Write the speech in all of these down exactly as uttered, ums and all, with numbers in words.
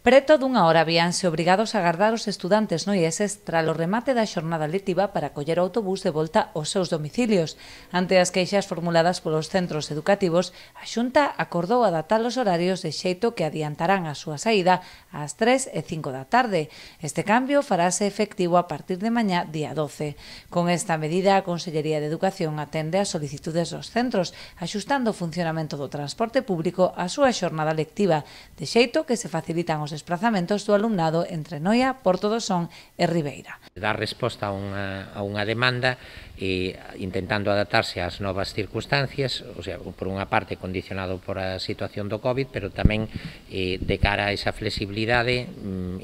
Preto dunha hora víanse obrigados a agardar os estudantes noieses tras o remate da xornada lectiva para coller o autobús de volta aos seus domicilios. Ante as queixas formuladas polos centros educativos, a Xunta acordou adaptar os horarios de xeito que adiantarán a súa saída ás tres e cinco da tarde. Este cambio farase efectivo a partir de mañá día doce. Con esta medida, a Consellería de Educación atende as solicitudes dos centros, axustando o funcionamento do transporte público á súa xornada lectiva, de xeito que se facilitan os desplazamentos do alumnado entre Noia, Porto do Son e Ribeira. Dar resposta a unha, a unha demanda e intentando adaptarse ás novas circunstancias, o sea, por unha parte condicionado por a situación do COVID, pero tamén eh, de cara a esa flexibilidade,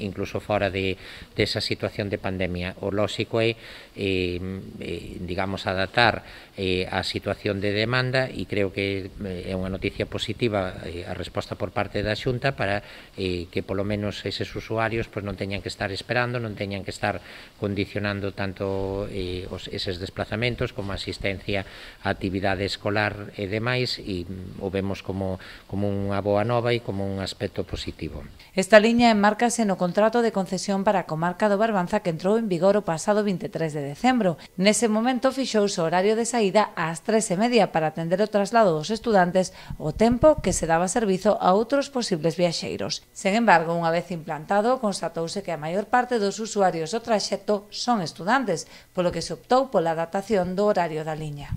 incluso fora de desa situación de pandemia. O lóxico é, eh, eh, digamos, adaptar eh, a situación de demanda e creo que é unha noticia positiva eh, a resposta por parte da Xunta para eh, que polo menos eses usuarios pues, non teñan que estar esperando, non teñan que estar condicionando tanto eh, os, eses desplazamentos como a asistencia a actividade escolar e demais, e o vemos como, como unha boa nova e como un aspecto positivo. Esta liña enmárcase no contrato de concesión para a comarca do Barbanza que entrou en vigor o pasado vinte e tres de decembro. Nese momento fixouse o horario de saída ás tres e media para atender o traslado dos estudantes o tempo que se daba servizo a outros posibles viaxeiros. Sen embargo, unha vez implantado, constatouse que a maior parte dos usuarios do traxecto son estudantes, polo que se optou pola adaptación do horario da liña.